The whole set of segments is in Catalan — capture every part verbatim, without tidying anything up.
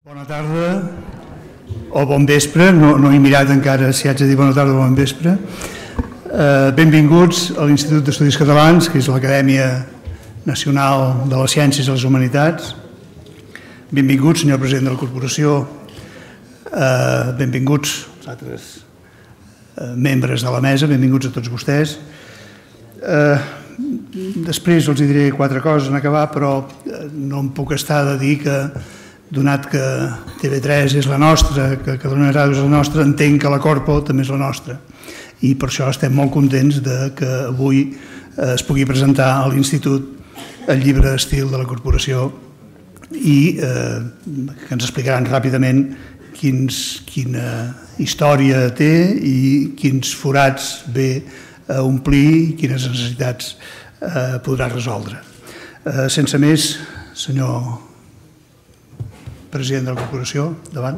Bona tarda o bon vespre, no, no he mirat encara si haig de dir bona tarda o bon vespre. Eh, benvinguts a l'Institut d'Estudis Catalans, que és l'Acadèmia Nacional de les Ciències i les Humanitats. Benvinguts, senyor president de la Corporació. Eh, benvinguts els altres eh, membres de la mesa, benvinguts a tots vostès. Eh, després els diré quatre coses en acabar, però no em puc estar de dir que donat que T V tres és la nostra, que Catalunya Ràdio és la nostra, entenc que la Corpo també és la nostra. I per això estem molt contents que avui es pugui presentar a l'Institut el llibre d'estil de la Corporació i que ens explicaran ràpidament quina història té i quins forats ve a omplir i quines necessitats podrà resoldre. Sense més, senyor president de la Corporació, davant.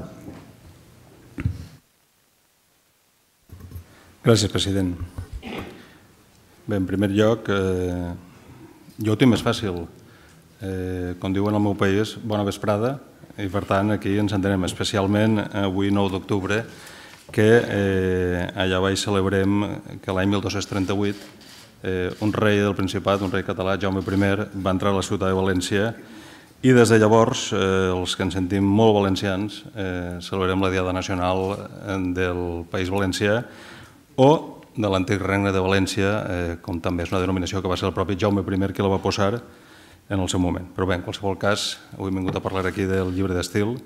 Gràcies, president. Bé, en primer lloc, eh, jo ho tinc més fàcil. Eh, com diuen al meu país, bona vesprada, i per tant aquí ens entenem especialment avui, nou d'octubre, que eh, allà baix celebrem que l'any mil dos-cents trenta-vuit eh, un rei del Principat, un rei català, Jaume primer, va entrar a la ciutat de València i des de llavors, eh, els que ens sentim molt valencians, eh, celebrem la Diada Nacional del País Valencià o de l'antic Regne de València, eh, com també és una denominació que va ser el propi Jaume primer qui la va posar en el seu moment. Però bé, en qualsevol cas, avui hem vingut a parlar aquí del llibre d'estil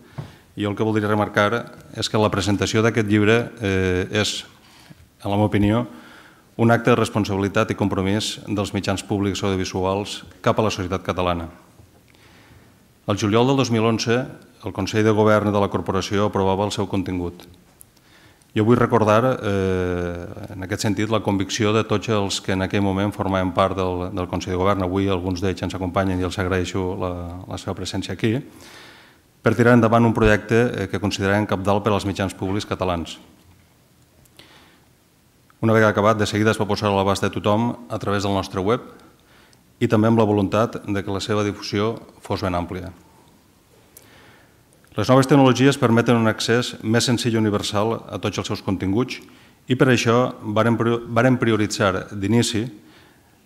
i jo el que voldria remarcar és que la presentació d'aquest llibre eh, és, en la meva opinió, un acte de responsabilitat i compromís dels mitjans públics audiovisuals cap a la societat catalana. El juliol del dos mil onze, el Consell de Govern de la Corporació aprovava el seu contingut. Jo vull recordar, eh, en aquest sentit, la convicció de tots els que en aquell moment formaven part del, del Consell de Govern. Avui alguns d'ells ens acompanyen i els agraeixo la, la seva presència aquí, per tirar endavant un projecte que considerem cabdal per als mitjans públics catalans. Una vegada acabat, de seguida es va posar a l'abast de tothom a través del nostre web i també amb la voluntat de que la seva difusió fos ben àmplia. Les noves tecnologies permeten un accés més senzill i universal a tots els seus continguts i per això vàrem prioritzar d'inici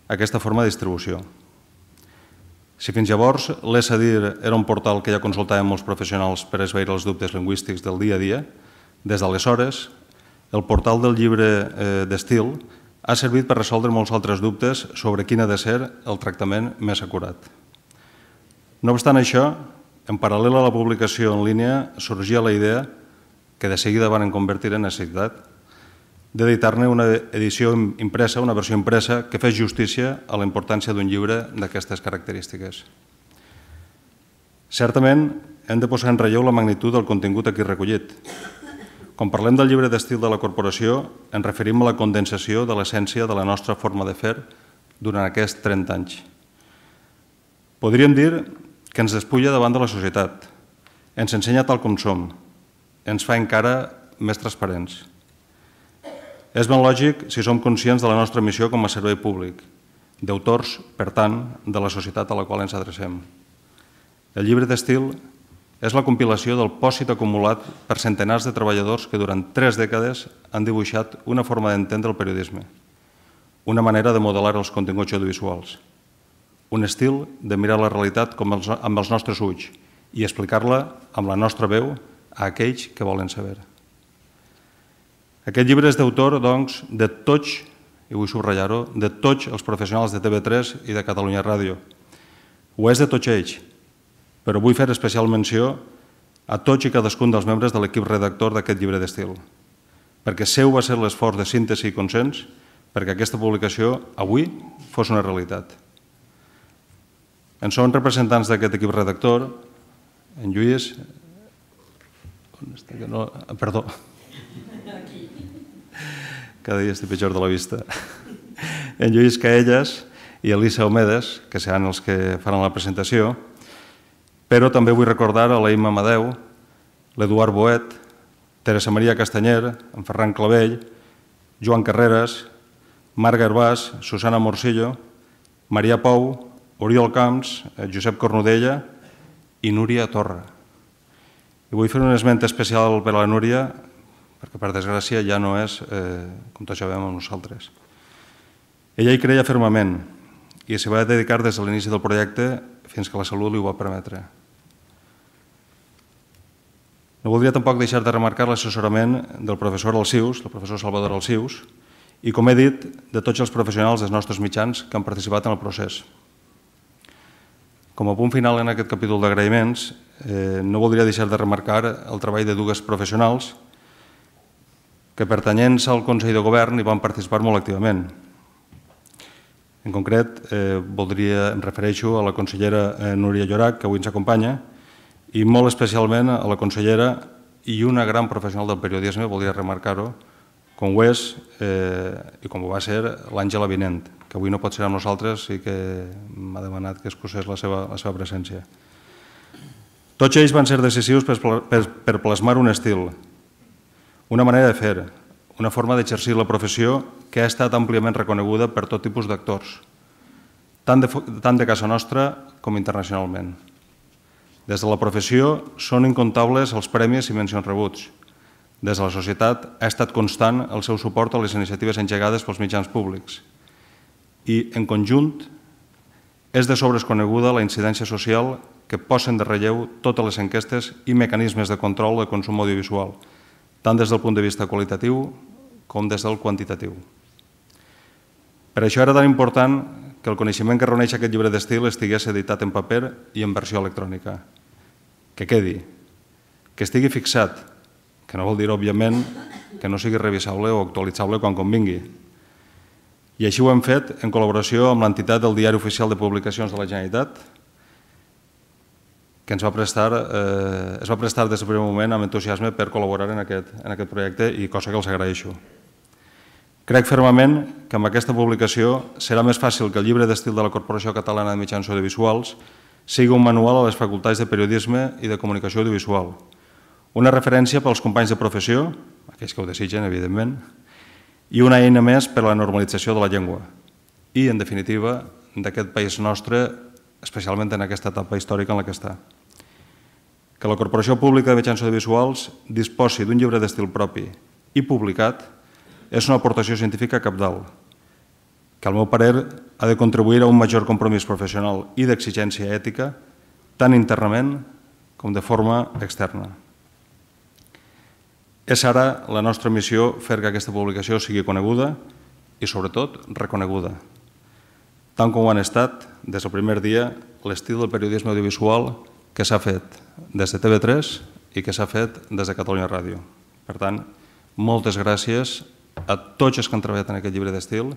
aquesta forma de distribució. Si fins llavors l'Es-a-dir era un portal que ja consultàvem molts professionals per esvair els dubtes lingüístics del dia a dia, des d'aleshores el portal del llibre d'estil ha servit per resoldre molts altres dubtes sobre quin ha de ser el tractament més acurat. No obstant això, en paral·lel a la publicació en línia, sorgia la idea, que de seguida van convertir en necessitat, d'editar-ne una edició impresa, una versió impresa, que fes justícia a la importància d'un llibre d'aquestes característiques. Certament, hem de posar en relleu la magnitud del contingut aquí recollit. Quan parlem del llibre d'estil de la Corporació, ens referim a la condensació de l'essència de la nostra forma de fer durant aquests trenta anys. Podríem dir que ens despulla davant de la societat, ens ensenya tal com som, ens fa encara més transparents. És ben lògic si som conscients de la nostra missió com a servei públic, d'autors, per tant, de la societat a la qual ens adrecem. El llibre d'estil és la compilació del pòsit acumulat per centenars de treballadors que durant tres dècades han dibuixat una forma d'entendre el periodisme, una manera de modelar els continguts audiovisuals, un estil de mirar la realitat amb els nostres ulls i explicar-la amb la nostra veu a aquells que volen saber. Aquest llibre és d'autor, doncs, de tots, i vull subratllar-ho, de tots els professionals de T V tres i de Catalunya Ràdio. Ho és de tots ells, però vull fer especial menció a tots i cadascun dels membres de l'equip redactor d'aquest llibre d'estil, perquè seu va ser l'esforç de síntesi i consens perquè aquesta publicació avui fos una realitat. En són representants d'aquest equip redactor, en Lluís... On està que no... Perdó. Cada dia estic pitjor de la vista. En Lluís Caelles i Elisa Omedes, que seran els que faran la presentació, però també vull recordar a l'Aima Amadeu, l'Eduard Boet, Teresa Maria Castanyer, en Ferran Clavell, Joan Carreras, Marc Garbàs, Susana Morcillo, Maria Pou, Oriol Camps, Josep Cornudella i Núria Torra. I vull fer un esment especial per a la Núria, perquè per desgràcia ja no és, com tots sabem, amb nosaltres. Ella hi creia fermament i s'hi va dedicar des de l'inici del projecte fins que la salut li ho va permetre. No voldria tampoc deixar de remarcar l'assessorament del professor Alsius, del professor Salvador Alsius, i, com he dit, de tots els professionals dels nostres mitjans que han participat en el procés. Com a punt final en aquest capítol d'agraïments, no voldria deixar de remarcar el treball de dues professionals que, pertanyents al Consell de Govern, hi van participar molt activament. En concret, voldria, em refereixo a la consellera Núria Llorach, que avui ens acompanya, i molt especialment a la consellera i una gran professional del periodisme, voldria remarcar-ho, com ho és i com ho va ser l'Àngela Vinent, que avui no pot ser amb nosaltres i que m'ha demanat que excusés la seva presència. Tots ells van ser decisius per plasmar un estil, una manera de fer, una forma d'exercir la professió que ha estat àmpliament reconeguda per tot tipus d'actors, tant de casa nostra com internacionalment. Des de la professió són incomptables els premis i mencions rebuts. Des de la societat ha estat constant el seu suport a les iniciatives engegades pels mitjans públics. I, en conjunt, és de sobres coneguda la incidència social que posen de relleu totes les enquestes i mecanismes de control de consum audiovisual, tant des del punt de vista qualitatiu com des del quantitatiu. Per això era tan important que el coneixement que reuneix aquest llibre d'estil estigués editat en paper i en versió electrònica. Que quedi, que estigui fixat, que no vol dir, òbviament, que no sigui revisable o actualitzable quan convingui. I així ho hem fet en col·laboració amb l'entitat del Diari Oficial de Publicacions de la Generalitat, que ens va prestar, es va prestar des del primer moment amb entusiasme per col·laborar en aquest projecte i cosa que els agraeixo. Crec fermament que amb aquesta publicació serà més fàcil que el llibre d'estil de la Corporació Catalana de Mitjans Audiovisuals sigui un manual a les facultats de periodisme i de comunicació audiovisual, una referència pels companys de professió, aquells que ho desitgen, evidentment, i una eina més per a la normalització de la llengua i, en definitiva, d'aquest país nostre, especialment en aquesta etapa històrica en la que està. Que la Corporació Pública de Mitjans Audiovisuals disposi d'un llibre d'estil propi i publicat és una aportació científica cabdal, que al meu parer ha de contribuir a un major compromís professional i d'exigència ètica, tant internament com de forma externa. És ara la nostra missió fer que aquesta publicació sigui coneguda i, sobretot, reconeguda, tant com ho han estat, des del primer dia, l'estil del periodisme audiovisual que s'ha fet des de T V tres i que s'ha fet des de Catalunya Ràdio. Per tant, moltes gràcies a tots els que han treballat en aquest llibre d'estil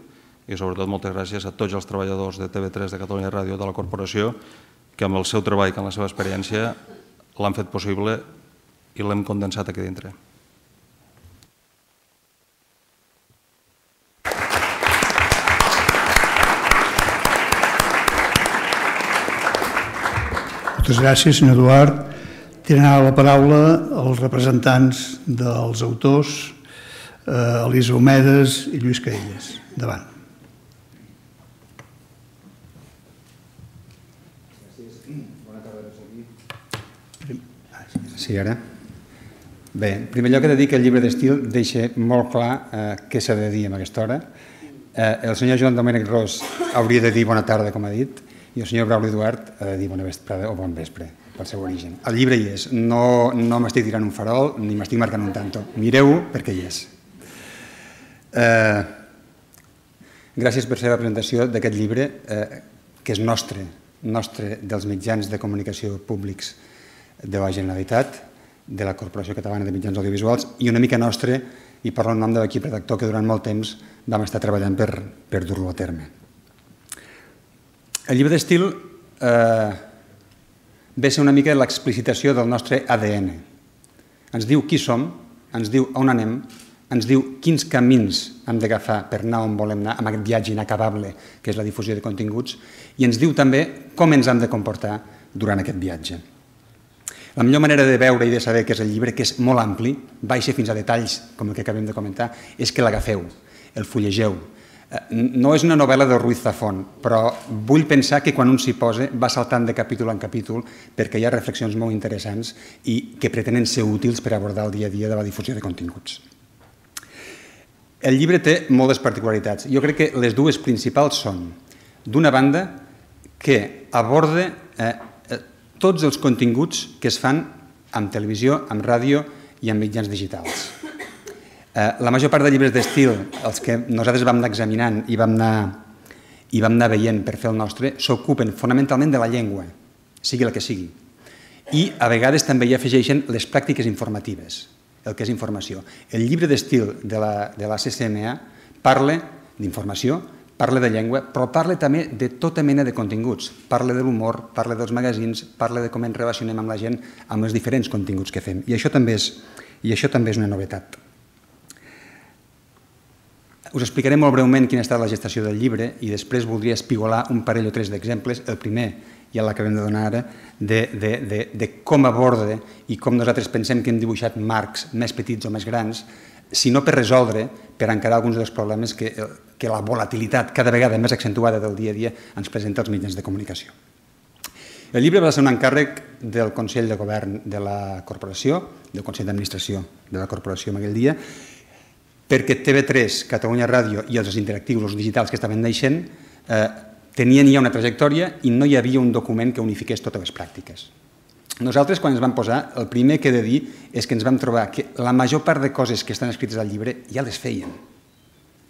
i, sobretot, moltes gràcies a tots els treballadors de T V tres, de Catalunya Ràdio, de la corporació, que amb el seu treball i amb la seva experiència l'han fet possible i l'hem condensat aquí dintre. Moltes gràcies, senyor Eduard. Tenen ara la paraula els representants dels autors, Elisa Homedes i Lluís Caelles. Endavant. Sí, ara. Bé, en primer lloc he de dir que el llibre d'estil deixa molt clar què s'ha de dir en aquesta hora. El senyor Joan Domènec Ros hauria de dir bona tarda, com ha dit, i el senyor Brauli Eduard ha de dir bona vesprada o bon vespre, pel seu origen. El llibre hi és, no m'estic tirant un farol ni m'estic marcant un tanto. Mireu-ho perquè hi és. Gràcies per fer la presentació d'aquest llibre, que és nostre, nostre dels mitjans de comunicació públics de la Generalitat, de la Corporació Catalana de Mitjans Audiovisuals, i una mica nostre, i parlo en nom de l'equip redactor, que durant molt temps vam estar treballant per dur-lo a terme. El llibre d'estil ve a ser una mica l'explicitació del nostre A D N. Ens diu qui som, ens diu on anem, ens diu quins camins hem d'agafar per anar on volem anar, amb aquest viatge inacabable que és la difusió de continguts, i ens diu també com ens hem de comportar durant aquest viatge. La millor manera de veure i de saber que és el llibre, que és molt ampli, baixa fins a detalls com el que acabem de comentar, és que l'agafeu, el fullegeu, No és una novel·la de Ruiz Zafón, però vull pensar que quan un s'hi posa va saltant de capítol en capítol perquè hi ha reflexions molt interessants i que pretenen ser útils per abordar el dia a dia de la difusió de continguts. El llibre té moltes particularitats. Jo crec que les dues principals són, d'una banda, que aborda eh, tots els continguts que es fan amb televisió, amb ràdio i amb mitjans digitals. La major part de llibres d'estil, els que nosaltres vam anar examinant i vam anar, i vam anar veient per fer el nostre, s'ocupen fonamentalment de la llengua, sigui el que sigui. I a vegades també hi afegeixen les pràctiques informatives, el que és informació. El llibre d'estil de la, de la C C M A parla d'informació, parla de llengua, però parla també de tota mena de continguts. Parla de l'humor, parla dels magazins, parla de com ens relacionem amb la gent, amb els diferents continguts que fem. I això també és, i això també és una novetat. Us explicaré molt breument quina ha estat la gestació del llibre i després voldria espigolar un parell o tres d'exemples. El primer, ja l'acabem de donar ara, de, de, de, de com aborda i com nosaltres pensem que hem dibuixat marcs més petits o més grans, si no per resoldre, per encarar alguns dels problemes que, que la volatilitat cada vegada més accentuada del dia a dia ens presenta als mitjans de comunicació. El llibre va ser un encàrrec del Consell de Govern de la Corporació, del Consell d'Administració de la Corporació en aquell dia, perquè T V tres, Catalunya Ràdio i els interactius, els digitals que estaven naixent, eh, tenien ja una trajectòria i no hi havia un document que unifiqués totes les pràctiques. Nosaltres, quan ens vam posar, el primer que he de dir és que ens vam trobar que la major part de coses que estan escrites al llibre ja les feien.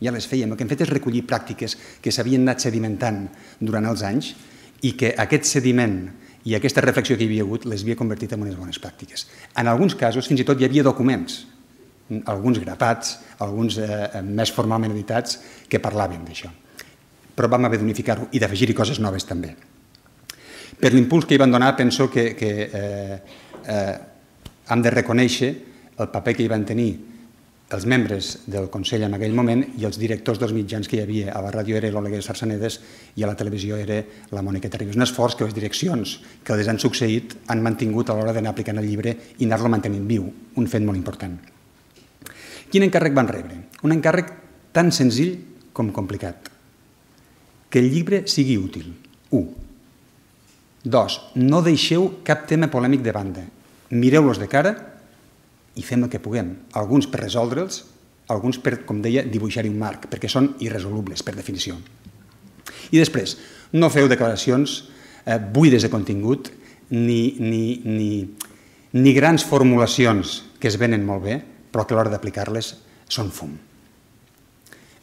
Ja les feien. El que hem fet és recollir pràctiques que s'havien anat sedimentant durant els anys i que aquest sediment i aquesta reflexió que hi havia hagut les havia convertit en unes bones pràctiques. En alguns casos, fins i tot hi havia documents, alguns grapats, alguns eh, més formalment editats, que parlaven d'això. Però vam haver d'unificar-ho i d'afegir-hi coses noves també. Per l'impuls que hi van donar, penso que, que eh, eh, hem de reconèixer el paper que hi van tenir els membres del Consell en aquell moment i els directors dels mitjans que hi havia. A la ràdio era l'Oleguer Sarsanedes i a la televisió era la Mònica Terribas. Un esforç que les direccions que les han succeït han mantingut a l'hora d'anar aplicant el llibre i anar-lo mantenint viu, un fet molt important. Quin encàrrec van rebre? Un encàrrec tan senzill com complicat. Que el llibre sigui útil. Un. Dos. No deixeu cap tema polèmic de banda. Mireu-los de cara i fem el que puguem. Alguns per resoldre'ls, alguns per, com deia, dibuixar-hi un marc, perquè són irresolubles, per definició. I després, no feu declaracions eh, buides de contingut ni, ni, ni, ni grans formulacions que es venen molt bé, però que a l'hora d'aplicar-les són fum.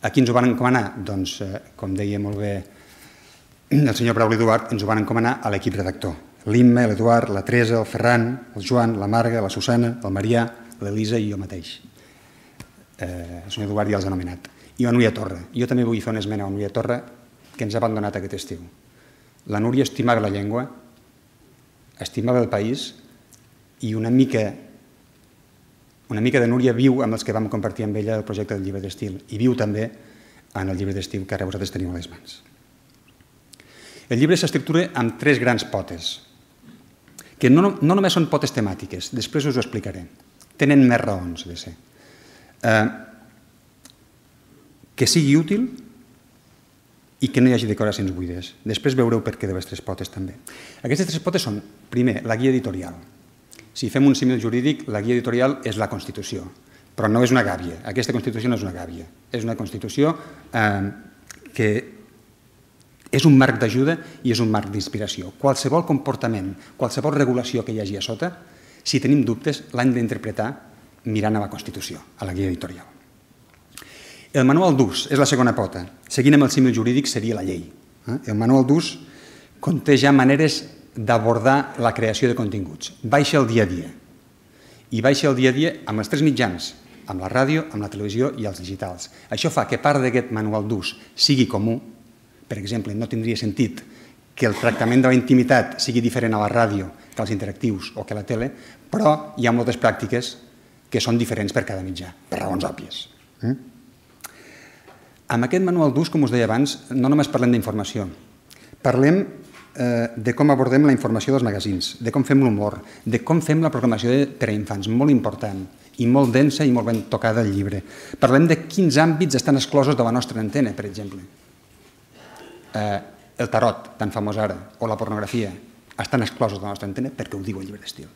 A qui ens ho van encomanar? Doncs, eh, com deia molt bé el senyor Brauli Duart, ens ho van encomanar a l'equip redactor. L'Imma, l'Eduard, la Teresa, el Ferran, el Joan, la Marga, la Susana, el Marià, l'Elisa i jo mateix. Eh, el senyor Duart ja els ha anomenat. I la Núria Torra. Jo també vull fer una esmena a la Núria Torra que ens ha abandonat aquest estiu. La Núria estimava la llengua, estimava el país i una mica Una mica de Núria viu amb els que vam compartir amb ella el projecte del llibre d'estil i viu també en el llibre d'estil que ara vosaltres teniu a les mans. El llibre s'estructura amb tres grans potes, que no, no només són potes temàtiques, després us ho explicaré. Tenen més raons de ser. Eh, que sigui útil i que no hi hagi decoracions buides. Després veureu per què de les tres potes també. Aquestes tres potes són, primer, la guia editorial. Si fem un símil jurídic, la guia editorial és la Constitució, però no és una gàbia. Aquesta Constitució no és una gàbia. És una Constitució eh, que és un marc d'ajuda i és un marc d'inspiració. Qualsevol comportament, qualsevol regulació que hi hagi a sota, si tenim dubtes, l'hem d'interpretar mirant a la Constitució, a la guia editorial. El manual d'ús és la segona pota. Seguint amb el símil jurídic seria la llei. El manual d'ús conté ja maneres d'abordar la creació de continguts. Baixa el dia a dia. I baixa el dia a dia amb els tres mitjans, amb la ràdio, amb la televisió i els digitals. Això fa que part d'aquest manual d'ús sigui comú. Per exemple, no tindria sentit que el tractament de la intimitat sigui diferent a la ràdio que als interactius o que a la tele, però hi ha moltes pràctiques que són diferents per cada mitjà, per raons òbvies. Amb aquest manual d'ús, com us deia abans, no només parlem d'informació. Parlem de com abordem la informació dels magazins, de com fem l'humor, de com fem la programació per a infants, molt important, i molt densa i molt ben tocada al llibre. Parlem de quins àmbits estan exclosos de la nostra antena, per exemple. El tarot, tan famós ara, o la pornografia, estan exclosos de la nostra antena perquè ho diu el llibre d'estil.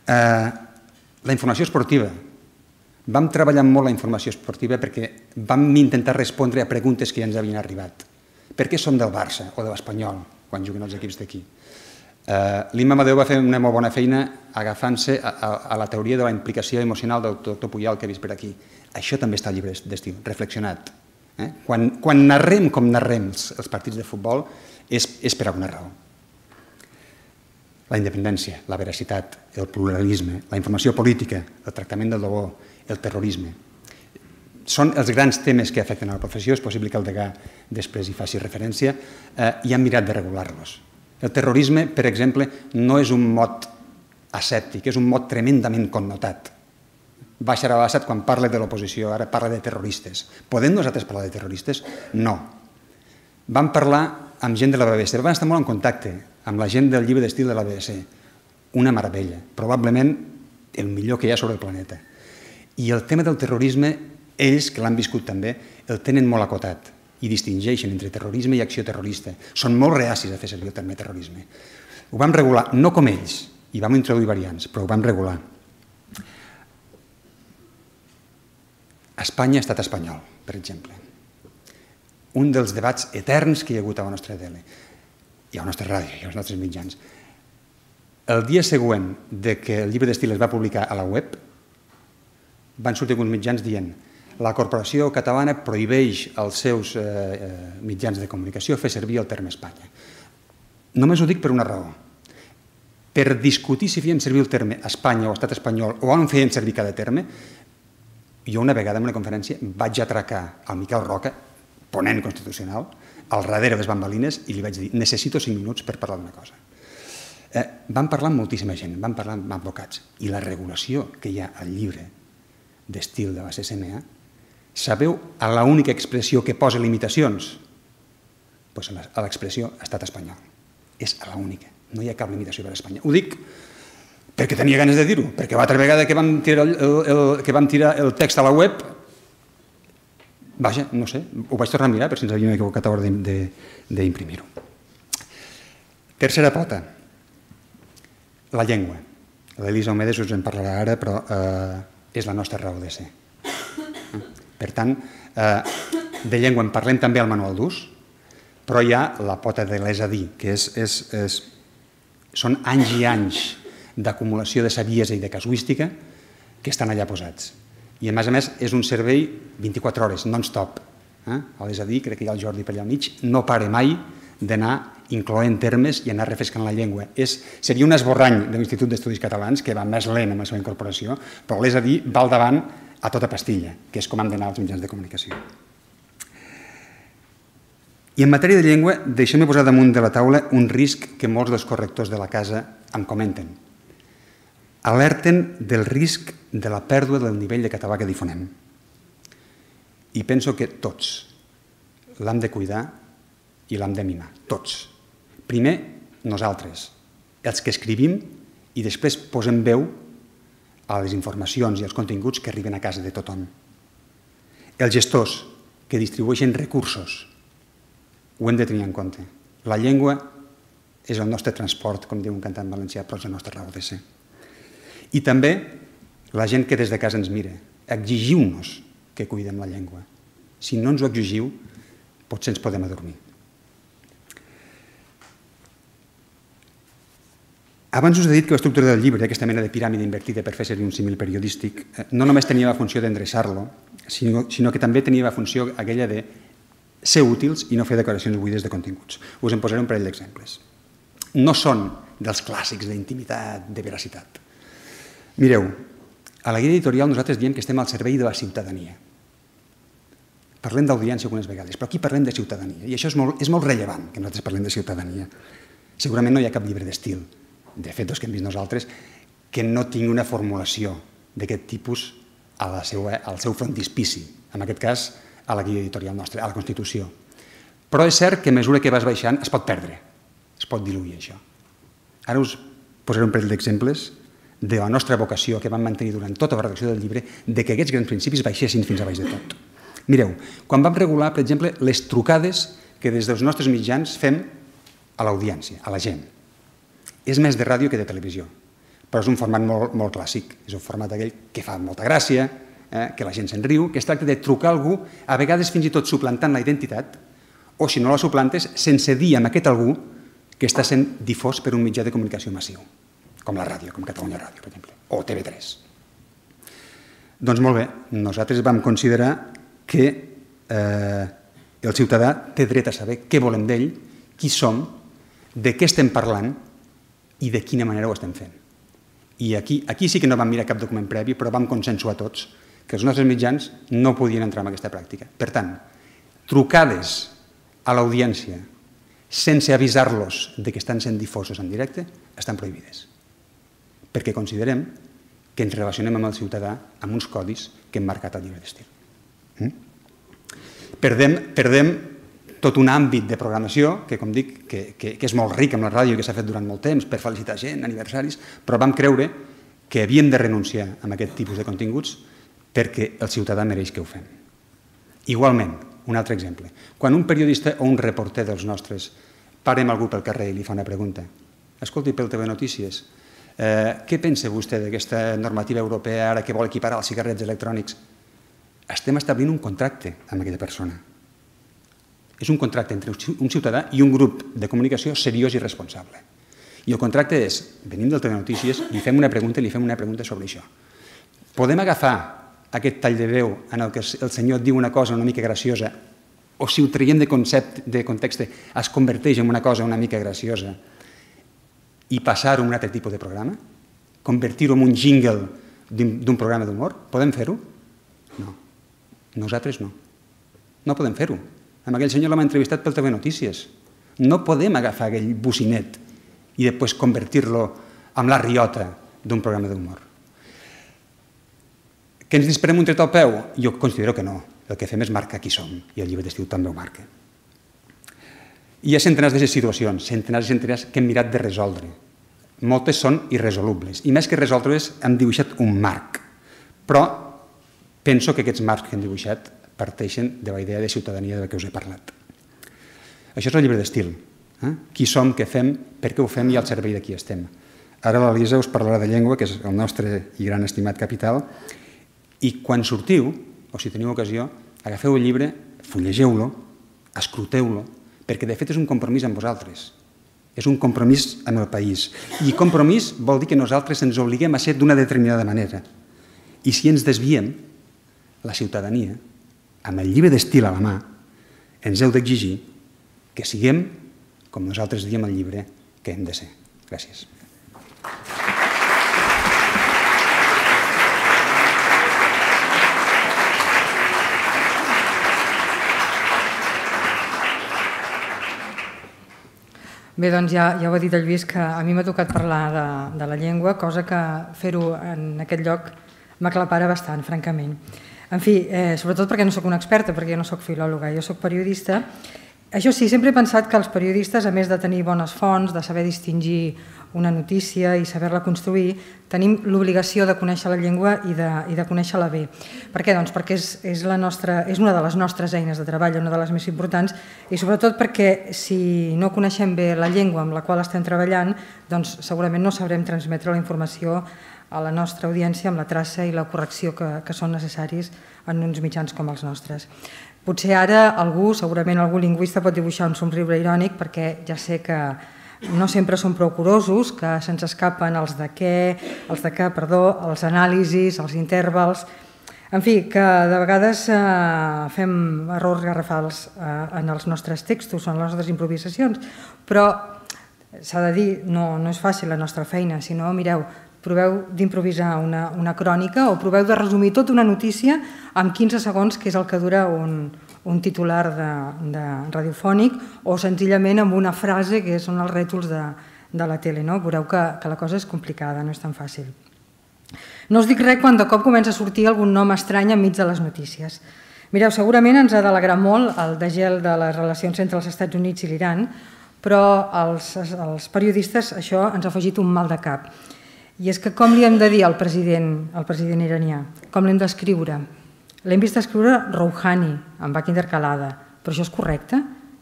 La informació esportiva. Vam treballar molt la informació esportiva perquè vam intentar respondre a preguntes que ja ens havien arribat. Per què som del Barça o de l'Espanyol quan juguen els equips d'aquí? L'Imma Amadeu va fer una molt bona feina agafant-se a la teoria de la implicació emocional del doctor Puyal que he vist per aquí. Això també està al llibre d'estil, reflexionat. Quan narrem com narrem els partits de futbol és per alguna raó. La independència, la veracitat, el pluralisme, la informació política, el tractament del dolor, el terrorisme. Són els grans temes que afecten a la professió, és possible que el degà després hi faci referència, i han mirat de regular-los. El terrorisme, per exemple, no és un mot asèptic, és un mot tremendament connotat. Bashar al-Assad, quan parla de l'oposició, ara parla de terroristes. Podem nosaltres parlar de terroristes? No. Vam parlar amb gent de la B B C, vam estar molt en contacte amb la gent del llibre d'estil de la B B C. Una meravella, probablement el millor que hi ha sobre el planeta. I el tema del terrorisme, ells, que l'han viscut també, el tenen molt acotat i distingeixen entre terrorisme i acció terrorista. Són molt reacis a fer servir el terme terrorisme. Ho vam regular, no com ells, i vam introduir variants, però ho vam regular. Espanya, estat espanyol, per exemple. Un dels debats eterns que hi ha hagut a la nostra tele, i a la nostra ràdio, i als nostres mitjans. El dia següent que el llibre d'estil es va publicar a la web, van sortir alguns mitjans dient la corporació catalana prohibeix als seus mitjans de comunicació fer servir el terme Espanya. Només ho dic per una raó. Per discutir si feien servir el terme Espanya o estat espanyol o on feien servir cada terme, jo una vegada en una conferència vaig atracar al Miquel Roca, ponent constitucional, al darrere de les bambalines, i li vaig dir necessito cinc minuts per parlar d'una cosa. Vam parlar amb moltíssima gent, vam parlar amb advocats, i la regulació que hi ha al llibre d'estil de la C C M A, sabeu a l'única expressió que posa limitacions? Doncs a l'expressió estat espanyol. És a l'única, no hi ha cap limitació per a Espanya. Ho dic perquè tenia ganes de dir-ho, perquè l'altra vegada que vam tirar el text a la web, vaja, no sé, ho vaig tornar a mirar per si ens havíem equivocat a l'hora d'imprimir-ho. Tercera pota, la llengua. L'Elisa Omedes us en parlarà ara, però és la nostra raó de ser. Per tant, de llengua en parlem també al manual d'ús, però hi ha la pota de l'és a dir, que són anys i anys d'acumulació de saviesa i de casuística que estan allà posats. I, a més a més, és un servei vint-i-quatre hores, non-stop. És a dir, crec que hi ha el Jordi per allà al mig, no pare mai d'anar incloent termes i anar refrescant la llengua. Seria un esborrany de l'Institut d'Estudis Catalans, que va més lent amb la seva incorporació, però l'és a dir va al davant a tota pastilla, que és com han d'anar els mitjans de comunicació. I en matèria de llengua, deixem-me posar damunt de la taula un risc que molts dels correctors de la casa em comenten. Alerten del risc de la pèrdua del nivell de català que difonem. I penso que tots l'hem de cuidar i l'hem de mimar, tots. Primer, nosaltres, els que escrivim i després posem veu a les informacions i als continguts que arriben a casa de tothom. Els gestors que distribueixen recursos ho hem de tenir en compte. La llengua és el nostre transport, com diu un cantant valencià, però és la nostra raó de ser. I també la gent que des de casa ens mira, exigiu-nos que cuidem la llengua. Si no ens ho exigiu, potser ens podem adormir. Abans us he dit que l'estructura del llibre, aquesta mena de piràmide invertida per fer servir un símil periodístic, no només tenia la funció d'endreçar-lo, sinó que també tenia la funció aquella de ser útils i no fer declaracions buides de continguts. Us en posaré un parell d'exemples. No són dels clàssics d'intimitat, de veracitat. Mireu, a la guia editorial nosaltres diem que estem al servei de la ciutadania. Parlem d'audiència algunes vegades, però aquí parlem de ciutadania, i això és molt rellevant, que nosaltres parlem de ciutadania. Segurament no hi ha cap llibre d'estil, de fet, els que hem vist nosaltres, que no tingui una formulació d'aquest tipus al seu frontispici, en aquest cas a la guia editorial nostra, a la Constitució. Però és cert que a mesura que vas baixant es pot perdre, es pot diluir això. Ara us posaré un parell d'exemples de la nostra vocació que vam mantenir durant tota la redacció del llibre, de que aquests grans principis baixessin fins a baix de tot. Mireu, quan vam regular, per exemple, les trucades que des dels nostres mitjans fem a l'audiència, a la gent. És més de ràdio que de televisió, però és un format molt, molt clàssic. És un format aquell que fa molta gràcia, eh, que la gent se'n riu, que es tracta de trucar a algú, a vegades fins i tot suplantant la identitat, o si no la suplantes, sense dir amb aquest algú que està sent difós per un mitjà de comunicació massiu, com la ràdio, com Catalunya Ràdio, per exemple, o T V tres. Doncs molt bé, nosaltres vam considerar que eh, el ciutadà té dret a saber què volem d'ell, qui som, de què estem parlant i de quina manera ho estem fent. I aquí, aquí sí que no vam mirar cap document previ, però vam consensuar tots que els nostres mitjans no podien entrar en aquesta pràctica. Per tant, trucades a l'audiència sense avisar-los de que estan sent difosos en directe estan prohibides, perquè considerem que ens relacionem amb el ciutadà amb uns codis que hem marcat al llibre d'estil. Mm? Perdem, perdem tot un àmbit de programació que, com dic, que, que, que és molt ric amb la ràdio i que s'ha fet durant molt temps per felicitar gent, aniversaris, però vam creure que havíem de renunciar a aquest tipus de continguts perquè el ciutadà mereix que ho fem. Igualment, un altre exemple. Quan un periodista o un reporter dels nostres parem algú pel carrer i li fa una pregunta, escolti, pel T V Notícies, eh, què pensa vostè d'aquesta normativa europea ara que vol equiparar els cigarrets electrònics? Estem establint un contracte amb aquella persona. És un contracte entre un ciutadà i un grup de comunicació seriós i responsable. I el contracte és, venim del T V Notícies, li fem una pregunta i li fem una pregunta sobre això. Podem agafar aquest tall de veu en el que el senyor diu una cosa una mica graciosa o si ho traiem de concepte, de context, es converteix en una cosa una mica graciosa i passar-ho en un altre tipus de programa? Convertir-ho en un jingle d'un programa d'humor? Podem fer-ho? No. Nosaltres no. No podem fer-ho. Amb aquell senyor l'hem entrevistat pel T V Notícies. No podem agafar aquell bocinet i després convertir-lo en la riota d'un programa d'humor. Que ens disparem un tret al peu? Jo considero que no. El que fem és marcar qui som, i el llibre d'estil també ho marca. Hi ha centenars de situacions, centenars i centenars que hem mirat de resoldre. Moltes són irresolubles, i més que resoldre-les hem dibuixat un marc. Però penso que aquests marcs que hem dibuixat parteixen de la idea de ciutadania de la que us he parlat. Això és el llibre d'estil. Eh? Qui som, què fem, per què ho fem i al servei de qui estem. Ara l'Elisa us parlarà de llengua, que és el nostre i gran estimat capital, i quan sortiu, o si teniu ocasió, agafeu el llibre, fullegeu-lo, escruteu-lo, perquè de fet és un compromís amb vosaltres. És un compromís amb el país. I compromís vol dir que nosaltres ens obliguem a ser d'una determinada manera. I si ens desviem, la ciutadania, amb el llibre d'estil a la mà, ens heu d'exigir que siguem, com nosaltres diem al llibre, que hem de ser. Gràcies. Bé, doncs ja, ja ho ha dit el Lluís, que a mi m'ha tocat parlar de, de la llengua, cosa que fer-ho en aquest lloc m'aclapara bastant, francament. En fi, eh, sobretot perquè no sóc una experta, perquè jo no sóc filòloga, jo sóc periodista. Això sí, sempre he pensat que els periodistes, a més de tenir bones fonts, de saber distingir una notícia i saber-la construir, tenim l'obligació de conèixer la llengua i de, i de conèixer-la bé. Per què? Doncs perquè és, és, la nostra, és una de les nostres eines de treball, una de les més importants, i sobretot perquè si no coneixem bé la llengua amb la qual estem treballant, doncs segurament no sabrem transmetre la informació a la nostra audiència amb la traça i la correcció que, que són necessaris en uns mitjans com els nostres. Potser ara algú, segurament algú lingüista, pot dibuixar un somriure irònic perquè ja sé que no sempre són prou curosos, que se'ns escapen els de què, els de què, perdó, els anàlisis, els intervals. En fi, que de vegades eh, fem errors garrafals eh, en els nostres textos o en les nostres improvisacions, però s'ha de dir, no, no és fàcil la nostra feina, sinó, mireu, proveu d'improvisar una, una crònica o proveu de resumir tota una notícia en quinze segons, que és el que dura un, un titular de, de radiofònic, o senzillament amb una frase que són els rètols de, de la tele. No? Veureu que, que la cosa és complicada, no és tan fàcil. No us dic res quan de cop comença a sortir algun nom estrany enmig de les notícies. Mireu, segurament ens ha d'alegrar molt el degel de les relacions entre els Estats Units i l'Iran, però als, als periodistes això ens ha afegit un mal de cap. I és que com li hem de dir al president, al president iranià? Com l'hem d'escriure? L'hem vist escriure Rouhani, amb H intercalada, però això és correcte?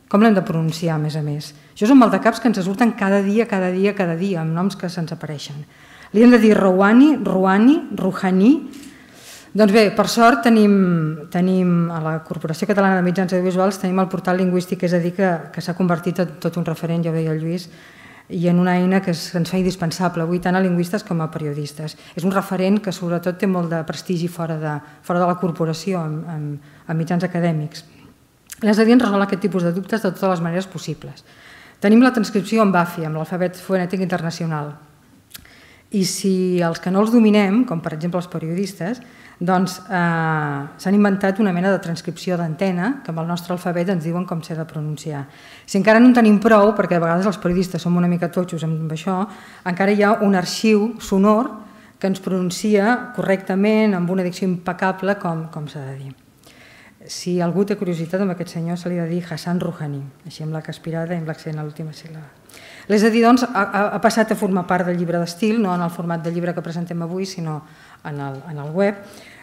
Com l'hem de pronunciar, a més a més? Això són maldecaps que ens surten cada dia, cada dia, cada dia, amb noms que se'ns apareixen. Li hem de dir Rouhani, Rouhani, Rouhani. Doncs bé, per sort tenim, tenim a la Corporació Catalana de Mitjans Audiovisuals tenim el portal lingüístic, és a dir, que, que s'ha convertit en tot un referent, ja ho deia el Lluís, i en una eina que es, ens fa indispensable avui tant a lingüistes com a periodistes. És un referent que sobretot té molt de prestigi fora de, fora de la corporació, en, en, en mitjans acadèmics. És a dir, ens resol aquest tipus de dubtes de totes les maneres possibles. Tenim la transcripció en B A F I, amb l'alfabet fonètic internacional. I si els que no els dominem, com per exemple els periodistes, doncs eh, s'han inventat una mena de transcripció d'antena que amb el nostre alfabet ens diuen com s'ha de pronunciar. Si encara no en tenim prou, perquè a vegades els periodistes som una mica totxos amb això, encara hi ha un arxiu sonor que ens pronuncia correctament, amb una dicció impecable, com, com s'ha de dir. Si algú té curiositat, amb aquest senyor se li ha de dir Hassan Rouhani, així amb la caspirada i amb l'accent a l'última síl·laba. És a dir, doncs, ha, ha passat a formar part del llibre d'estil, no en el format de llibre que presentem avui, sinó en el, en el web,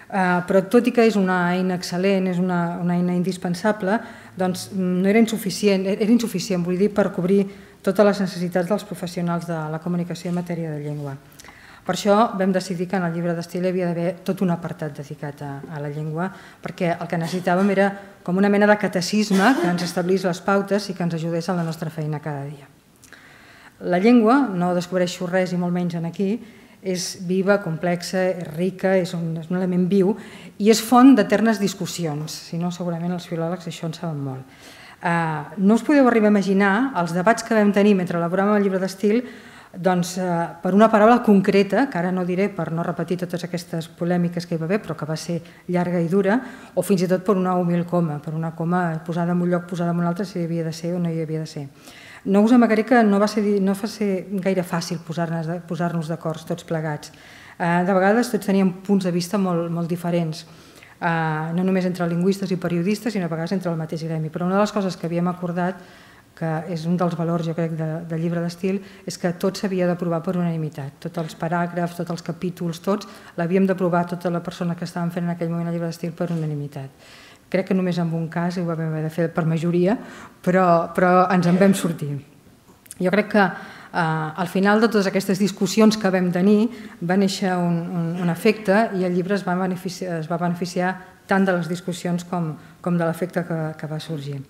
uh, però tot i que és una eina excel·lent, és una, una eina indispensable, doncs no era insuficient, era insuficient, vull dir, per cobrir totes les necessitats dels professionals de la comunicació en matèria de llengua. Per això vam decidir que en el llibre d'estil hi havia d'haver tot un apartat dedicat a, a la llengua, perquè el que necessitàvem era com una mena de catecisme que ens establís les pautes i que ens ajudés a la nostra feina cada dia. La llengua, no descobreixo res i molt menys en aquí, és viva, complexa, és rica, és un, és un element viu i és font d'eternes discussions, si no segurament els filòlegs això en saben molt. Uh, no us podeu arribar a imaginar els debats que vam tenir mentre elaboràvem el llibre d'estil, doncs, uh, per una paraula concreta, que ara no diré per no repetir totes aquestes polèmiques que hi va haver, però que va ser llarga i dura, o fins i tot per una humil coma, per una coma posada en un lloc, posada en un altre, si hi havia de ser o no hi havia de ser. No us amagaré que no va ser, no va ser gaire fàcil posar-nos posar-nos d'acord tots plegats. De vegades tots teníem punts de vista molt, molt diferents, no només entre lingüistes i periodistes, sinó a vegades entre el mateix gremi. Però una de les coses que havíem acordat, que és un dels valors, jo crec, de, del llibre d'estil, és que tot s'havia d'aprovar per unanimitat. Tots els paràgrafs, tots els capítols, tots, l'havíem d'aprovar tota la persona que estaven fent en aquell moment el llibre d'estil per unanimitat. Crec que només en un cas ho vam haver de fer per majoria, però, però ens en vam sortir. Jo crec que eh, al final de totes aquestes discussions que vam tenir va néixer un, un, un efecte i el llibre es va beneficiar, es va beneficiar tant de les discussions com, com de l'efecte que, que va sorgir.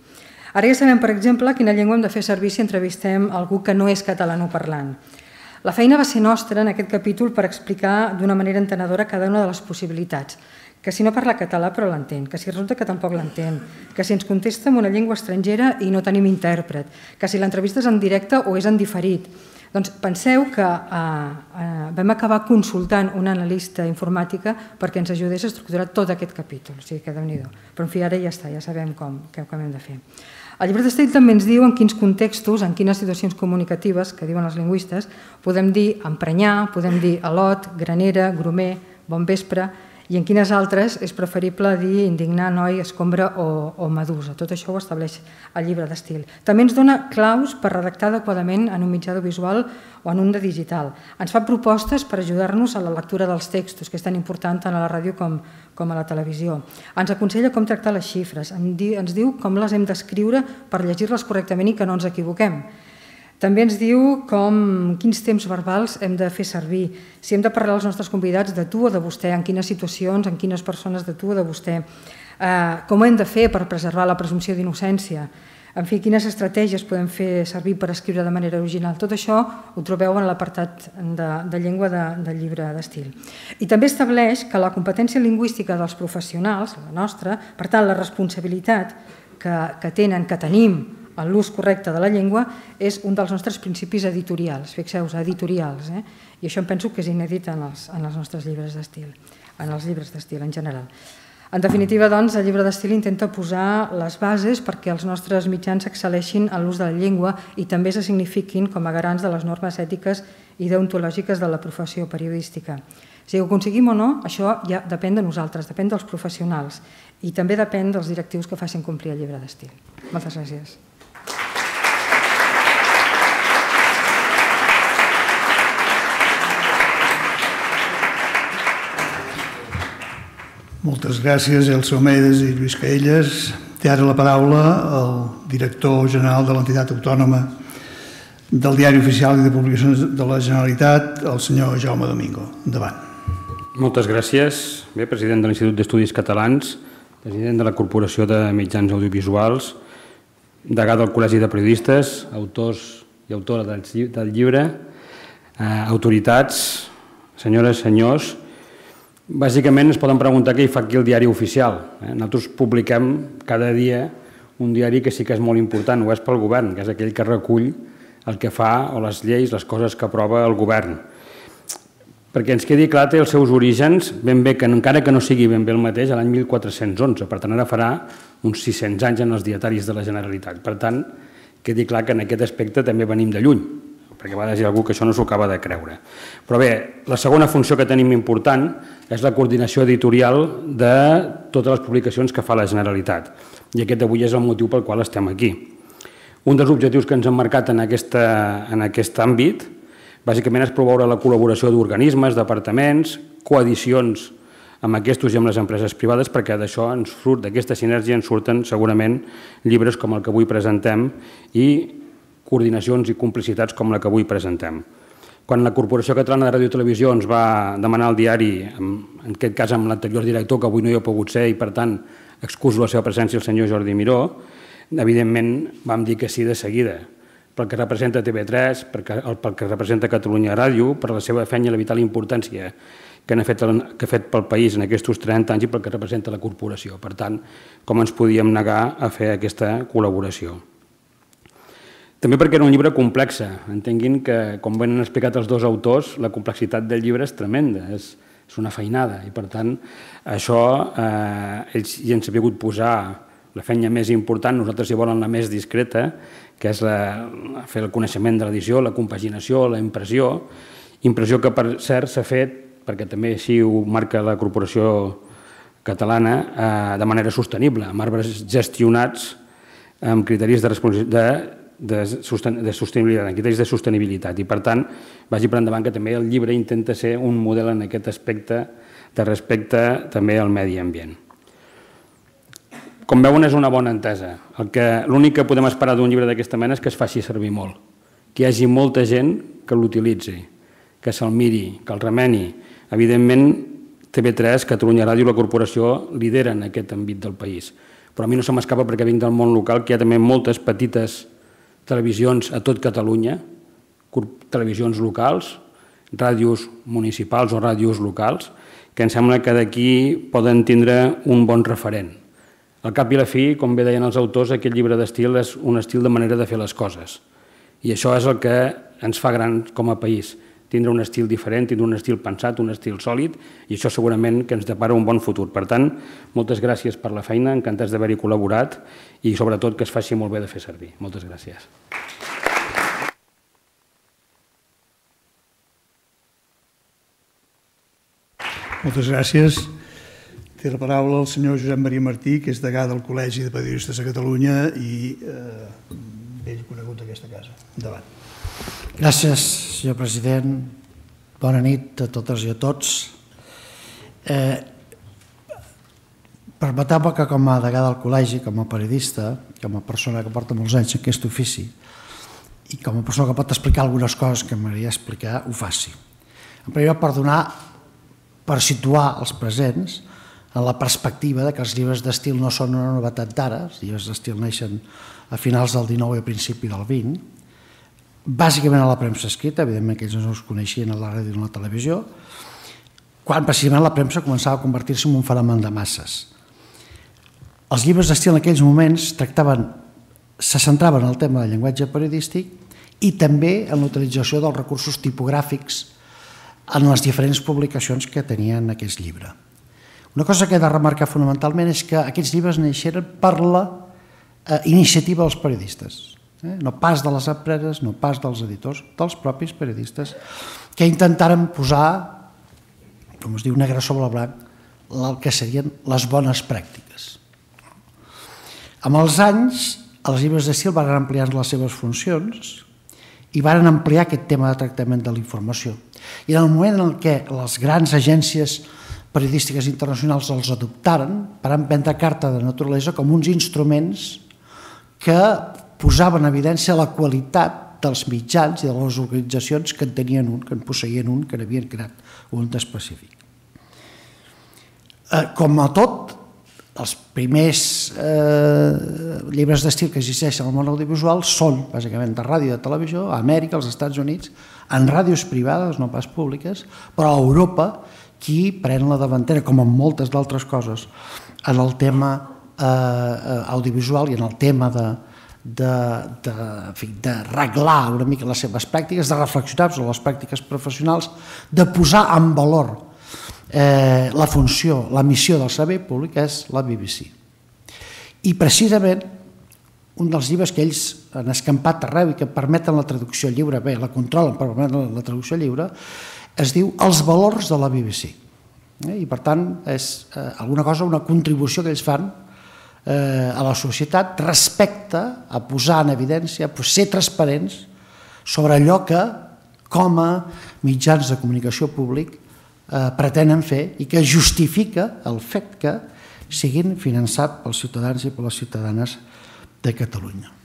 Ara ja sabem, per exemple, quina llengua hem de fer servir si entrevistem algú que no és catalanoparlant. La feina va ser nostra en aquest capítol per explicar d'una manera entenedora cada una de les possibilitats, que si no parla català però l'entén, que si resulta que tampoc l'entén, que si ens contesta en una llengua estrangera i no tenim intèrpret, que si l'entrevista és en directe o és en diferit. Doncs penseu que eh, eh, vam acabar consultant una analista informàtica perquè ens ajudés a estructurar tot aquest capítol, o sigui que déu-n'hi-do. Però en fi, ara ja està, ja sabem com, com hem de fer. El llibre d'estil també ens diu en quins contextos, en quines situacions comunicatives, que diuen els lingüistes, podem dir emprenyar, podem dir al·lot, granera, gromer, bon vespre, i en quines altres és preferible dir indignar, noi, escombra o, o medusa. Tot això ho estableix el llibre d'estil. També ens dona claus per redactar adequadament en un mitjà audiovisual o en un de digital. Ens fa propostes per ajudar-nos a la lectura dels textos, que és tan important tant a la ràdio com, com a la televisió. Ens aconsella com tractar les xifres, ens diu com les hem d'escriure per llegir-les correctament i que no ens equivoquem. També ens diu com, quins temps verbals hem de fer servir, si hem de parlar als nostres convidats de tu o de vostè, en quines situacions, en quines persones de tu o de vostè, eh, com ho hem de fer per preservar la presumpció d'innocència, en fi, quines estratègies podem fer servir per escriure de manera original. Tot això ho trobeu en l'apartat de, de llengua de, del llibre d'estil. I també estableix que la competència lingüística dels professionals, la nostra, per tant, la responsabilitat que, que tenen, que tenim, en l'ús correcte de la llengua, és un dels nostres principis editorials, fixeu-vos, editorials, eh? I això em penso que és inèdit en els, en els nostres llibres d'estil, en els llibres d'estil en general. En definitiva, doncs, el llibre d'estil intenta posar les bases perquè els nostres mitjans excel·leixin en l'ús de la llengua i també se signifiquin com a garants de les normes ètiques i deontològiques de la professió periodística. Si ho aconseguim o no, això ja depèn de nosaltres, depèn dels professionals i també depèn dels directius que facin complir el llibre d'estil. Moltes gràcies. Moltes gràcies, Elsa Omedes i Lluís Caelles. Té ara la paraula el director general de l'entitat autònoma del Diari Oficial i de Publicacions de la Generalitat, el senyor Jaume Domingo. Endavant. Moltes gràcies. Bé, president de l'Institut d'Estudis Catalans, president de la Corporació de Mitjans Audiovisuals, degà del Col·legi de Periodistes, autors i autora del llibre, eh, autoritats, senyores, senyors. Bàsicament ens poden preguntar què hi fa aquí el diari oficial. Eh? Nosaltres publiquem cada dia un diari que sí que és molt important, ho és pel govern, que és aquell que recull el que fa o les lleis, les coses que aprova el govern. Perquè ens quedi clar, té els seus orígens, ben bé que encara que no sigui ben bé el mateix, l'any mil quatre-cents onze, per tant ara farà uns sis-cents anys en els dietaris de la Generalitat. Per tant, quedi clar que en aquest aspecte també venim de lluny, perquè va dir algú que això no s'ho acaba de creure. Però bé, la segona funció que tenim important és la coordinació editorial de totes les publicacions que fa la Generalitat. I aquest avui és el motiu pel qual estem aquí. Un dels objectius que ens hem marcat en, aquesta, en aquest àmbit bàsicament és promoure la col·laboració d'organismes, departaments, coedicions amb aquests i amb les empreses privades, perquè d'això ens surt, d'aquesta sinergia ens surten segurament llibres com el que avui presentem i coordinacions i complicitats com la que avui presentem. Quan la Corporació Catalana de Ràdio i Televisió ens va demanar el diari, en aquest cas amb l'anterior director, que avui no hi ha pogut ser i per tant excuso la seva presència el senyor Jordi Miró, evidentment vam dir que sí de seguida, pel que representa T V tres, pel que representa Catalunya Ràdio, per la seva feina i la vital importància que ha fet, que ha fet pel país en aquests trenta anys i pel que representa la corporació. Per tant, com ens podíem negar a fer aquesta col·laboració. També perquè era un llibre complex. Entenguin que, com ben han explicat els dos autors, la complexitat del llibre és tremenda, és, és una feinada i per tant això eh, ells hi han sabut posar la feina més important, nosaltres hi volen la més discreta, que és la, fer el coneixement de l'edició, la compaginació, la impressió, impressió que per cert s'ha fet, perquè també així ho marca la Corporació Catalana, eh, de manera sostenible, amb arbres gestionats amb criteris de responsabilitat, de, de sostenibilitat, en criteris de sostenibilitat i per tant vagi per endavant que també el llibre intenta ser un model en aquest aspecte de respecte també al medi ambient. Com veuen, és una bona entesa. L'únic que podem esperar d'un llibre d'aquesta mena és que es faci servir molt, que hi hagi molta gent que l'utilitzi, que se'l miri, que el remeni. Evidentment, T V tres, Catalunya Ràdio i la Corporació lideren aquest àmbit del país, però a mi no se m'escapa perquè vinc del món local, que hi ha també moltes petites televisions a tot Catalunya, televisions locals, ràdios municipals o ràdios locals, que em sembla que d'aquí poden tindre un bon referent. Al cap i a la fi, com bé deien els autors, aquest llibre d'estil és un estil de manera de fer les coses. I això és el que ens fa grans com a país, tindre un estil diferent, tindre un estil pensat, un estil sòlid, i això segurament que ens depara un bon futur. Per tant, moltes gràcies per la feina, encantats d'haver-hi col·laborat i sobretot que es faci molt bé de fer servir. Moltes gràcies. Moltes gràcies. Té la paraula el senyor Josep Maria Martí, que és degà del Col·legi de Periodistes de Catalunya i eh, vell conegut d'aquesta casa. Endavant. Gràcies, senyor president. Bona nit a totes i a tots. Eh, Permeteu-me que com a degà del col·legi, com a periodista, com a persona que porta molts anys en aquest ofici i com a persona que pot explicar algunes coses que m'agradaria explicar, ho faci. En primer lloc, per donar, per situar els presents en la perspectiva de que els llibres d'estil no són una novetat d'ara, els llibres d'estil neixen a finals del dinou i a principi del vint, bàsicament a la premsa escrita, evidentment que ells no es coneixien a la ràdio i a la televisió, quan precisament la premsa començava a convertir-se en un fenomen de masses. Els llibres d'estil en aquells moments tractaven, se centraven en el tema del llenguatge periodístic i també en l'utilització dels recursos tipogràfics en les diferents publicacions que tenien aquest llibre. Una cosa que he de remarcar fonamentalment és que aquests llibres neixeren per la iniciativa dels periodistes, no pas de les empreses, no pas dels editors, dels propis periodistes, que intentaren posar, com es diu, negre sobre blanc, el que serien les bones pràctiques. Amb els anys, els llibres d'estil van ampliar les seves funcions i van ampliar aquest tema de tractament de la informació. I en el moment en què les grans agències periodístiques internacionals els adoptaren per emprendre carta de naturalesa com uns instruments que posaven en evidència la qualitat dels mitjans i de les organitzacions que en tenien un, que en posseïen un, que n'havien creat un d'específic. Com a tot, els primers eh, llibres d'estil que existeixen al món audiovisual són bàsicament de ràdio i de televisió, a Amèrica, als Estats Units, en ràdios privades, no pas públiques, però a Europa qui pren la davantera, com en moltes d'altres coses, en el tema eh, audiovisual i en el tema de, de, de, en fi, de reglar una mica les seves pràctiques, de reflexionar sobre les pràctiques professionals, de posar en valor eh, la funció, la missió del servei públic és la B B C. I precisament un dels llibres que ells han escampat arreu i que permeten la traducció lliure, bé, la controlen per permetre la traducció lliure, es diu Els valors de la B B C. I per tant és eh, alguna cosa, una contribució que ells fan eh, a la societat respecte a posar en evidència, a ser transparents sobre allò que com a mitjans de comunicació públic eh, pretenen fer i que justifica el fet que siguin finançats pels ciutadans i per les ciutadanes de Catalunya.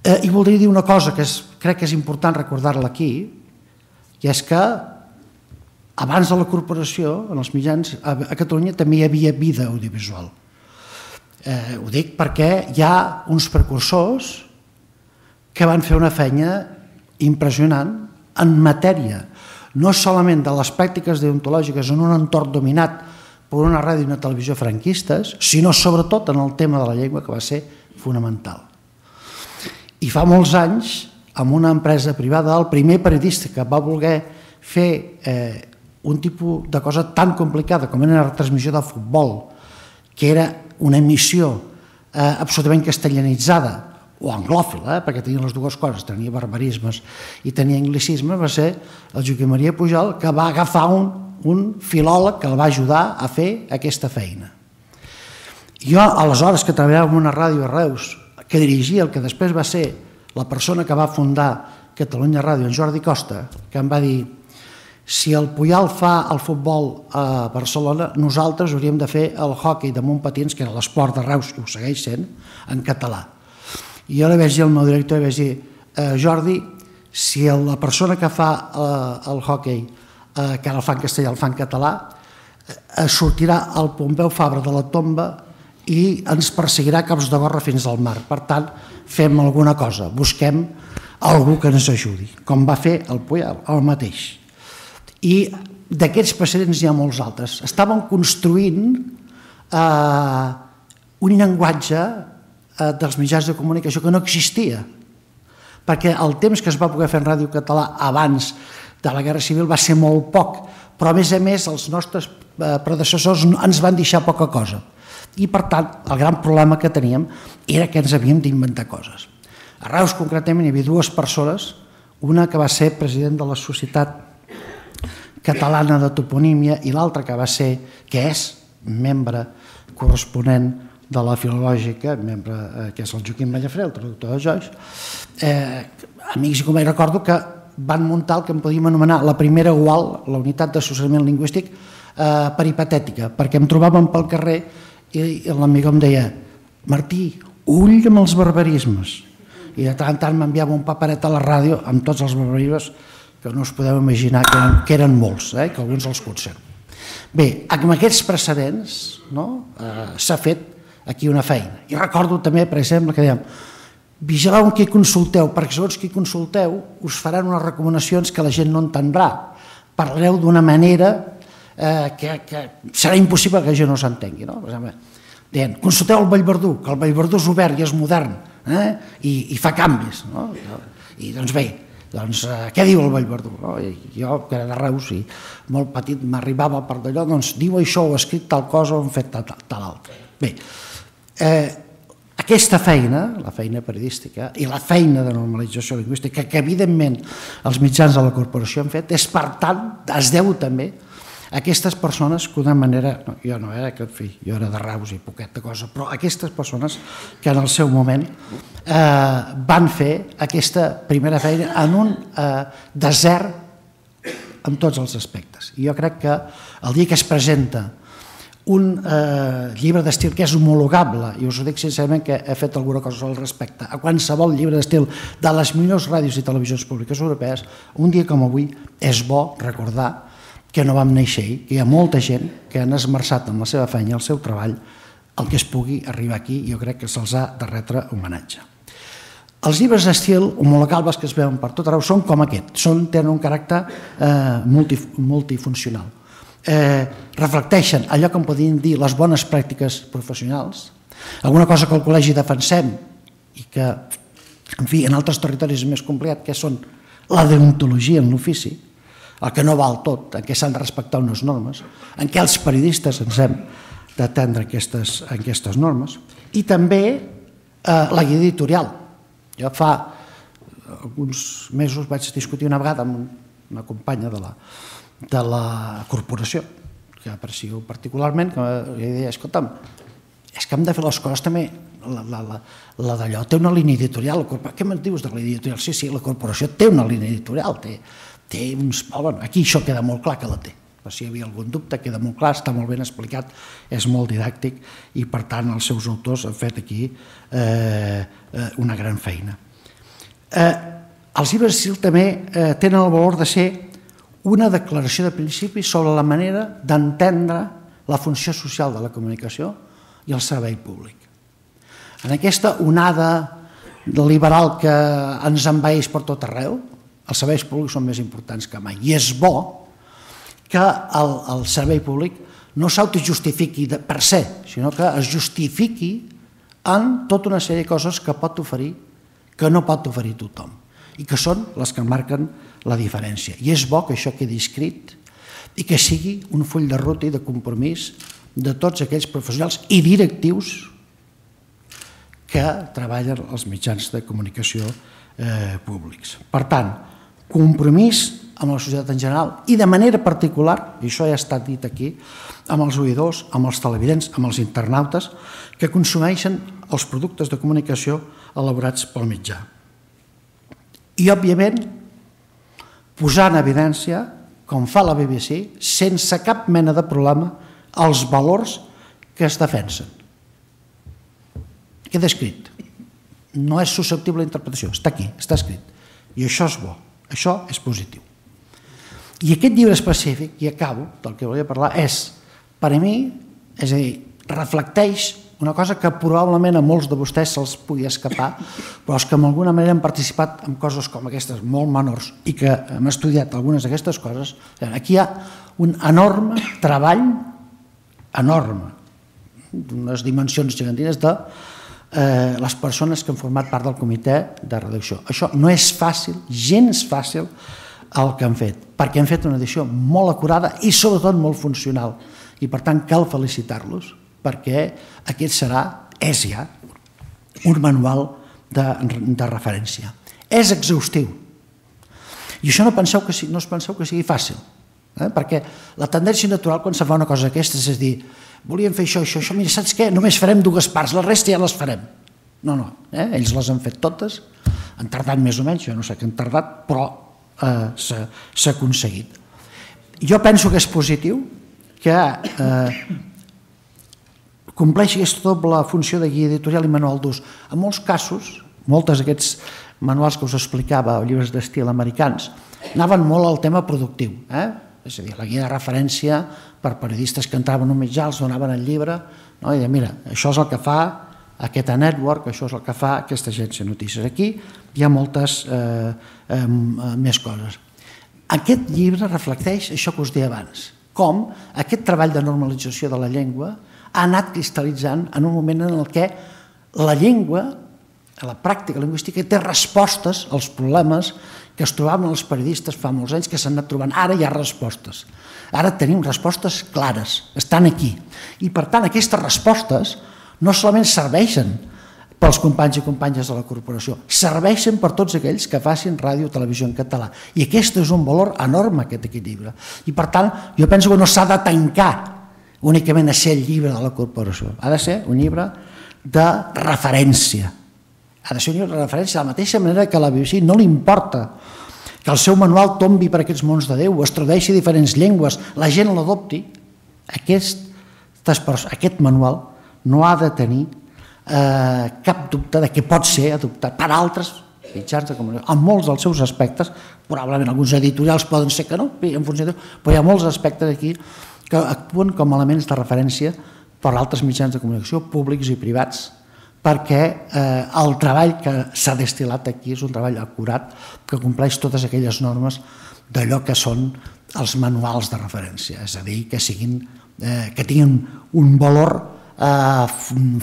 Eh, I voldria dir una cosa que és, crec que és important recordar-la aquí, i és que abans de la corporació, en els mitjans, a Catalunya també hi havia vida audiovisual. Eh, ho dic perquè hi ha uns precursors que van fer una feina impressionant en matèria, no solament de les pràctiques deontològiques en un entorn dominat per una ràdio i una televisió franquistes, sinó sobretot en el tema de la llengua, que va ser fonamental. I fa molts anys, amb una empresa privada, el primer periodista que va voler fer eh, un tipus de cosa tan complicada com era la retransmissió de futbol, que era una emissió eh, absolutament castellanitzada, o anglòfila, eh, perquè tenia les dues coses, tenia barbarismes i tenia anglicisme, va ser el Joaquim Maria Pujol, que va agafar un, un filòleg que el va ajudar a fer aquesta feina. Jo, aleshores, que treballava en una ràdio a Reus, que dirigia el que després va ser la persona que va fundar Catalunya Ràdio, en Jordi Costa, que em va dir: si el Pujol fa el futbol a Barcelona, nosaltres hauríem de fer el hoquei damunt patins, que era l'esport de Reus, i ho segueix sent, en català. I jo li vaig dir al meu director, li vaig dir: eh, Jordi, si la persona que fa eh, el hoquei, eh, que ara el fa en castellà, el fa en català, eh, sortirà el Pompeu Fabra de la tomba i ens perseguirà cops de gorra fins al mar. Per tant, fem alguna cosa, busquem algú que ens ajudi, com va fer el Pujol, el mateix. I d'aquests precedents hi ha molts altres. Estàvem construint eh, un llenguatge eh, dels mitjans de comunicació que no existia, perquè el temps que es va poder fer en ràdio català abans de la Guerra Civil va ser molt poc, però a més a més els nostres eh, predecessors ens van deixar poca cosa. I per tant, el gran problema que teníem era que ens havíem d'inventar coses. A Reus, concretament, hi havia dues persones, una que va ser president de la Societat Catalana de Toponímia i l'altra que va ser, que és membre corresponent de la Filològica, membre, eh, que és el Joaquim Mallafré, el traductor de Joix. Eh, amics i companys, recordo que van muntar el que en podíem anomenar la primera U A L, la unitat d'assessorament lingüístic, eh, peripatètica, perquè em trobàvem pel carrer i l'amigo em deia: Martí, ull amb els barbarismes. I de tant en tant m'enviava un paperet a la ràdio amb tots els barbarismes que no us podeu imaginar que eren, que eren molts, eh, que alguns els conserven. Bé, amb aquests precedents, no, eh, s'ha fet aquí una feina. I recordo també, per exemple, que dèiem: vigileu amb qui consulteu, perquè segons qui consulteu us faran unes recomanacions que la gent no entendrà. Parlareu d'una manera eh, que, que serà impossible que la gent no s'entengui. No? Per exemple, deien: consulteu el Vallverdú, que el Vallverdú és obert i és modern, eh? I, i fa canvis. No? I doncs bé, doncs, eh, què diu el Vallverdú? No? I jo, que era de Reus i molt petit, m'arribava per d'allò, doncs diu això, ho ha escrit tal cosa, ho han fet tal, tal, tal altra. Bé, eh, aquesta feina, la feina periodística i la feina de normalització lingüística que evidentment els mitjans de la corporació han fet, és per tant, es deu també a aquestes persones que d'una manera, no, jo no era, que, en fi, jo era de Reus i poqueta cosa, però aquestes persones que en el seu moment eh, van fer aquesta primera feina en un eh, desert en tots els aspectes. I jo crec que el dia que es presenta un eh, llibre d'estil que és homologable, i us ho dic sincerament que he fet alguna cosa al respecte, a qualsevol llibre d'estil de les millors ràdios i televisions públiques europees, un dia com avui és bo recordar que no vam néixer ahir, que hi ha molta gent que han esmerçat amb la seva feina i el seu treball el que es pugui arribar aquí, i jo crec que se'ls ha de retre homenatge. Els llibres d'estil homologables que es veuen per tot arreu són com aquest, són, tenen un caràcter eh, multi, multifuncional. Eh, reflecteixen allò que en podríem dir les bones pràctiques professionals, alguna cosa que al col·legi defensem i que, en fi, en altres territoris és més complicat, que són la deontologia en l'ofici, el que no val tot, en què s'han de respectar unes normes, en què els periodistes ens hem d'atendre aquestes, aquestes normes, i també eh, la guia editorial. Jo fa alguns mesos vaig discutir una vegada amb una companya de la, de la corporació, que aprecio particularment, que li deia, escolta'm, és que hem de fer les coses també, la, la, la, la d'allò té una línia editorial, què me'n dius de la línia editorial? Sí, sí, la corporació té una línia editorial, té, té uns... Bueno, aquí això queda molt clar que la té. Per si hi havia algun dubte, queda molt clar, està molt ben explicat, és molt didàctic i, per tant, els seus autors han fet aquí eh, una gran feina. Eh, els llibres d'estil també eh, tenen el valor de ser una declaració de principi sobre la manera d'entendre la funció social de la comunicació i el servei públic. En aquesta onada liberal que ens envaeix per tot arreu, els serveis públics són més importants que mai. I és bo que el, el servei públic no s'autojustifiqui per ser, sinó que es justifiqui en tota una sèrie de coses que pot oferir, que no pot oferir tothom, i que són les que marquen la diferència. I és bo que això quedi escrit i que sigui un full de ruta i de compromís de tots aquells professionals i directius que treballen als mitjans de comunicació eh, públics. Per tant, compromís amb la societat en general i de manera particular, i això ja ha estat dit aquí, amb els oïdors, amb els televidents, amb els internautes que consumeixen els productes de comunicació elaborats pel mitjà. I, òbviament, posar en evidència, com fa la B B C, sense cap mena de problema, els valors que es defensen. Queda escrit. No és susceptible d'interpretació, està aquí, està escrit. I això és bo, això és positiu. I aquest llibre específic, i acabo, del que volia parlar, és, per a mi, és a dir, reflecteix una cosa que probablement a molts de vostès se'ls pugui escapar, però els que d'alguna manera han participat en coses com aquestes, molt menors, i que hem estudiat algunes d'aquestes coses, aquí hi ha un enorme treball, enorme, d'unes dimensions gegantines de eh, les persones que han format part del comitè de redacció. Això no és fàcil, gens fàcil, el que han fet, perquè han fet una edició molt acurada i sobretot molt funcional, i per tant cal felicitar-los, perquè aquest serà, és ja, un manual de, de referència. És exhaustiu. I això no, penseu que, no us penseu que sigui fàcil, eh? Perquè la tendència natural quan se fa una cosa d'aquestes és dir, volíem fer això, això, això, mira, saps què? Només farem dues parts, la resta ja les farem. No, no, eh? Ells les han fet totes, han tardat més o menys, jo no sé què han tardat, però eh, s'ha aconseguit. Jo penso que és positiu que eh, compleixi aquesta doble funció de guia editorial i manual d'ús. En molts casos, molts d'aquests manuals que us explicava, o llibres d'estil americans, anaven molt al tema productiu. Eh? És a dir, la guia de referència per periodistes que entraven a un mitjà, els donaven el llibre, no? I deien, mira, això és el que fa aquest network, això és el que fa aquesta agència de notícies. Aquí hi ha moltes eh, eh, més coses. Aquest llibre reflecteix això que us deia abans, com aquest treball de normalització de la llengua ha anat cristal·litzant en un moment en què la llengua, la pràctica lingüística, té respostes als problemes que es trobaven els periodistes fa molts anys que s'han anat trobant. Ara hi ha respostes. Ara tenim respostes clares, estan aquí. I per tant aquestes respostes no solament serveixen pels companys i companyes de la corporació, serveixen per tots aquells que facin ràdio o televisió en català. I aquest és un valor enorme, aquest equilibri. I per tant, jo penso que no s'ha de tancar únicament a ser el llibre de la corporació. Ha de ser un llibre de referència. Ha de ser un llibre de referència de la mateixa manera que a la B B C no li importa que el seu manual tombi per aquests mons de Déu, es tradueixi a diferents llengües, la gent l'adopti, aquest, aquest manual no ha de tenir eh, cap dubte de que pot ser adoptat per altres mitjans de comunicació. En molts dels seus aspectes, probablement alguns editorials poden ser que no, en funció de... però hi ha molts aspectes aquí que actuen com a elements de referència per altres mitjans de comunicació, públics i privats, perquè eh, el treball que s'ha destil·lat aquí és un treball acurat que compleix totes aquelles normes d'allò que són els manuals de referència, és a dir, que, siguin, eh, que tinguin un valor eh,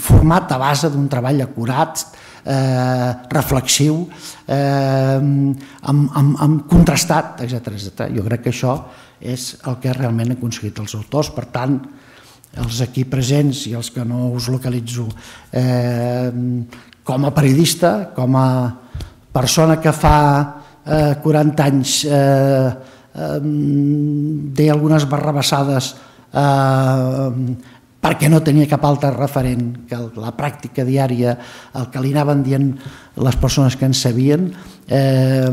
format a base d'un treball acurat, eh, reflexiu, eh, amb, amb, amb contrastat, etcètera, etcètera. Jo crec que això és el que realment han aconseguit els autors. Per tant, els aquí presents i els que no us localitzo, eh, com a periodista, com a persona que fa eh, quaranta anys eh, eh, deia algunes barrabassades eh, perquè no tenia cap altre referent que la pràctica diària, el que li anaven dient les persones que en sabien. Eh,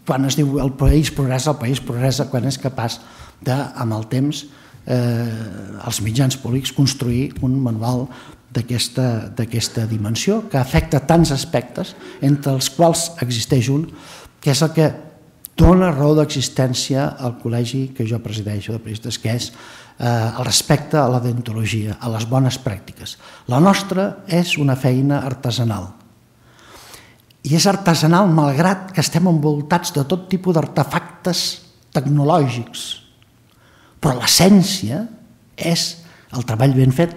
quan es diu el país progressa, el país progressa quan és capaç de, amb el temps, eh, els mitjans públics construir un manual d'aquesta dimensió que afecta tants aspectes, entre els quals existeix un, que és el que dona raó d'existència al col·legi que jo presideixo de periodistes, que és eh, el respecte a la deontologia, a les bones pràctiques. La nostra és una feina artesanal. I és artesanal malgrat que estem envoltats de tot tipus d'artefactes tecnològics. Però l'essència és el treball ben fet,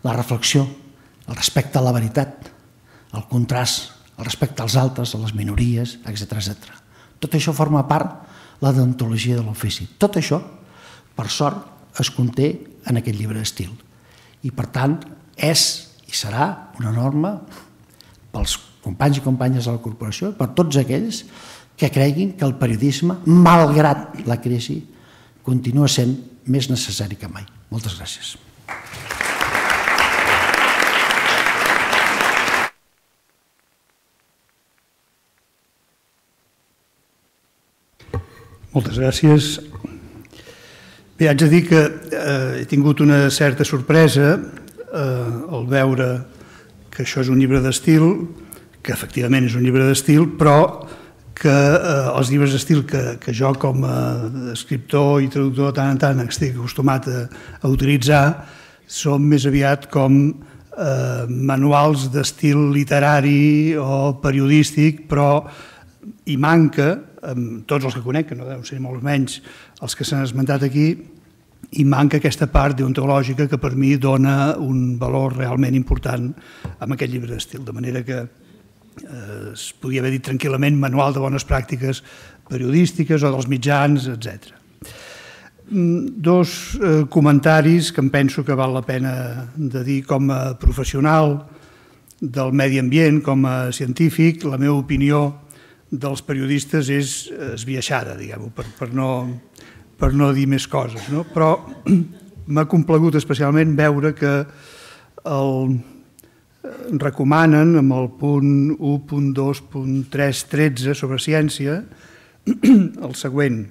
la reflexió, el respecte a la veritat, el contrast, el respecte als altres, a les minories, etcètera, etcètera. Tot això forma part de la deontologia de l'ofici. Tot això, per sort, es conté en aquest llibre d'estil. I, per tant, és i serà una norma pels companys i companyes de la corporació, per tots aquells que creguin que el periodisme, malgrat la crisi, continua sent més necessari que mai. Moltes gràcies. Moltes gràcies. Bé, haig de dir que eh, he tingut una certa sorpresa eh, al veure que això és un llibre d'estil, que efectivament és un llibre d'estil, però que eh, els llibres d'estil que, que jo com a escriptor i traductor tant en tant estic acostumat a, a utilitzar són més aviat com eh, manuals d'estil literari o periodístic, però hi manca, amb tots els que conec, que no deuen ser molts menys els que s'han esmentat aquí, hi manca aquesta part deontològica que per mi dona un valor realment important amb aquest llibre d'estil, de manera que eh, es podia haver dit tranquil·lament manual de bones pràctiques periodístiques o dels mitjans, etcètera. Dos eh, comentaris que em penso que val la pena de dir com a professional del medi ambient, com a científic. La meva opinió dels periodistes és esbiaixada, diguem-ho, per, per, no, per no dir més coses, no? Però m'ha complagut especialment veure que el recomanen amb el punt u punt dos punt tres punt tretze sobre ciència el següent: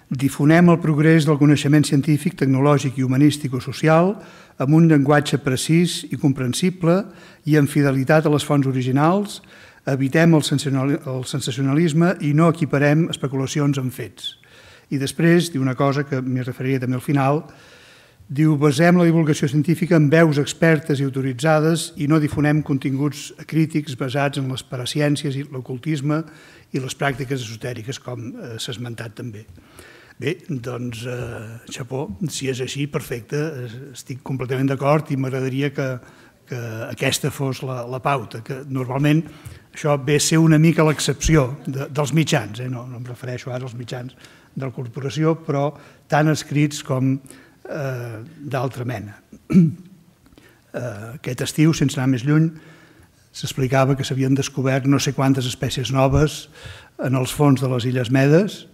difonem el progrés del coneixement científic, tecnològic i humanístic o social amb un llenguatge precís i comprensible i amb fidelitat a les fonts originals. Evitem el sensacionalisme i no equiparem especulacions amb fets. I després diu una cosa que m'hi referiré també al final, diu: basem la divulgació científica en veus expertes i autoritzades i no difonem continguts crítics basats en les paraciències i l'ocultisme i les pràctiques esotèriques, com eh, s'ha esmentat també. Bé, doncs, eh, xapó, si és així, perfecte, estic completament d'acord i m'agradaria que, que aquesta fos la, la pauta, que normalment això ve a ser una mica l'excepció de, dels mitjans, eh? no, no em refereixo ara als mitjans de la corporació, però tant escrits com eh, d'altra mena. Eh, aquest estiu, sense anar més lluny, s'explicava que s'havien descobert no sé quantes espècies noves en els fons de les Illes Medes,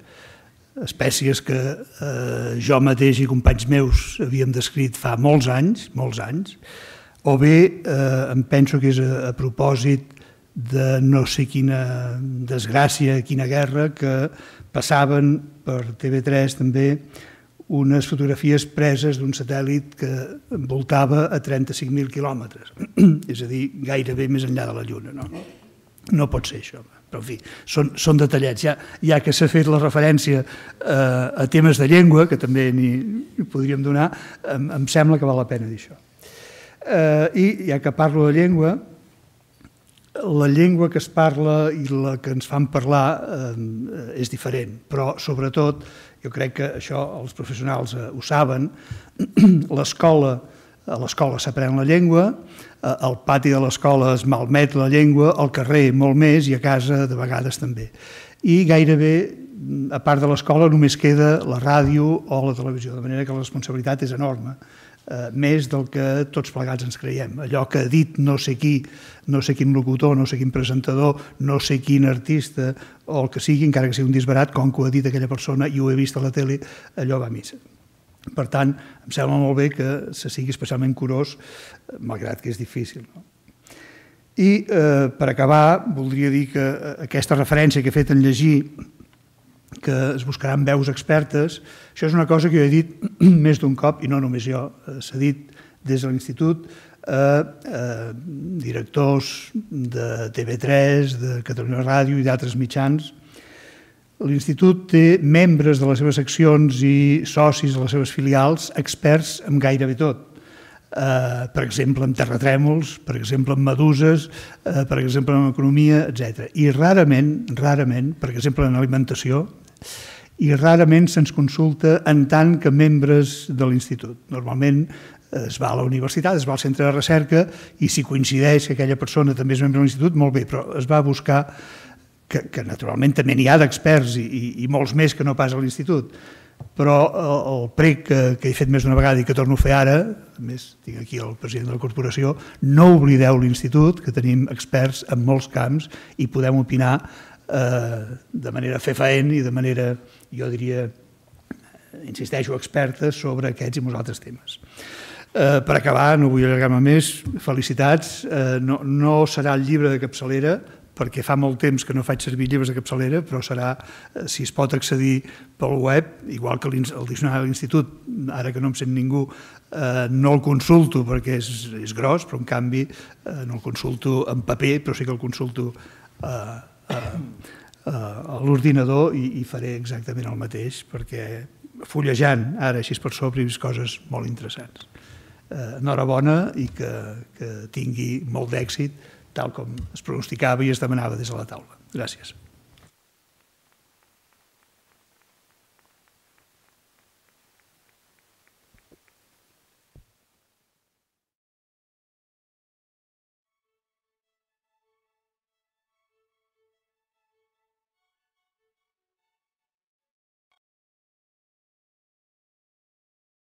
espècies que eh, jo mateix i companys meus havíem descrit fa molts anys, molts anys, o bé eh, em penso que és a, a propòsit de no sé quina desgràcia, quina guerra, que passaven per T V tres també unes fotografies preses d'un satèl·lit que voltava a trenta-cinc mil quilòmetres, és a dir, gairebé més enllà de la Lluna. No, no pot ser això, però en fi, són, són detallets. Ja, ja que s'ha fet la referència eh, a temes de llengua, que també n'hi podríem donar, em, em sembla que val la pena dir això. Eh, I ja que parlo de llengua, la llengua que es parla i la que ens fan parlar eh, és diferent, però sobretot, jo crec que això els professionals eh, ho saben, l'escola, a l'escola s'aprèn la llengua, eh, al pati de l'escola es malmet la llengua, al carrer molt més i a casa de vegades també. I gairebé, a part de l'escola, només queda la ràdio o la televisió, de manera que la responsabilitat és enorme. Eh, més del que tots plegats ens creiem. Allò que ha dit no sé qui, no sé quin locutor, no sé quin presentador, no sé quin artista, o el que sigui, encara que sigui un disbarat, com que ho ha dit aquella persona i ho he vist a la tele, allò va a missa. Per tant, em sembla molt bé que se sigui especialment curós, malgrat que és difícil. No? I eh, per acabar, voldria dir que aquesta referència que he fet en llegir, que es buscaran veus expertes, això és una cosa que jo he dit més d'un cop, i no només jo, s'ha dit des de l'Institut a, a directors de T V tres, de Catalunya Ràdio i d'altres mitjans. L'Institut té membres de les seves seccions i socis de les seves filials experts en gairebé tot. Uh, per exemple, en terratrèmols, per exemple, en meduses, uh, per exemple, en economia, etcètera. I rarament, rarament, per exemple, en alimentació, i rarament se'ns consulta en tant que membres de l'Institut. Normalment es va a la universitat, es va al centre de recerca i si coincideix que aquella persona també és membre de l'Institut, molt bé, però es va buscar, que, que naturalment també n'hi ha d'experts i, i, i molts més que no pas a l'Institut, però el, el prec que, que he fet més d'una vegada i que torno a fer ara, a més tinc aquí el president de la corporació, no oblideu l'Institut, que tenim experts en molts camps i podem opinar eh, de manera fefaent i de manera, jo diria, insisteixo, experta sobre aquests i molts altres temes. Eh, per acabar, no vull allargar-me més, felicitats, eh, no, no serà el llibre de capçalera, perquè fa molt temps que no faig servir llibres de capçalera, però serà, si es pot accedir pel web, igual que el diccionari de l'Institut, ara que no em sent ningú, eh, no el consulto perquè és, és gros, però en canvi eh, no el consulto en paper, però sí que el consulto eh, eh, eh, a l'ordinador i, i faré exactament el mateix, perquè fullejant ara així per sobre he vist coses molt interessants. Eh, enhorabona i que, que tingui molt d'èxit, tal com es pronosticava i es demanava des de la taula. Gràcies.